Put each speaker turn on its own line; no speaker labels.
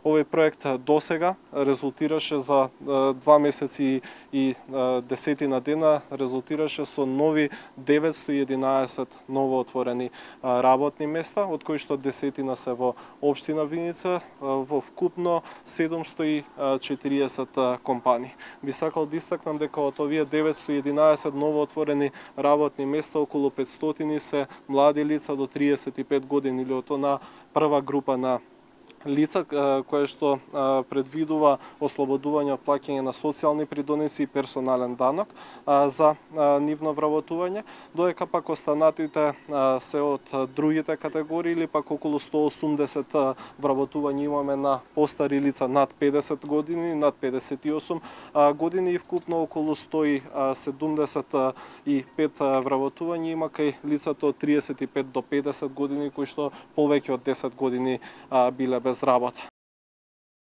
Овој проект досега резултираше за 2 месеци и 10 дена, резултираше со нови 911 новоотворени работни места, од кои што 10 се во општина Виница, во вкупно 740 компании. Би сакал да истакнам дека од овие 911 новоотворени работни места, околу 500 се млади лица до 35 години, или од она прва група на лица кое што предвидува ослободување од плаќање на социјални придонеси и персонален данок за нивно вработување, додека пак останатите се од другите категории, или пак околу 180 вработувања имаме на постари лица над 50 години, над 58 години и вкупно околу 175 вработувања има кај лицата од 35 до 50 години кои што повеќе од 10 години биле без работа.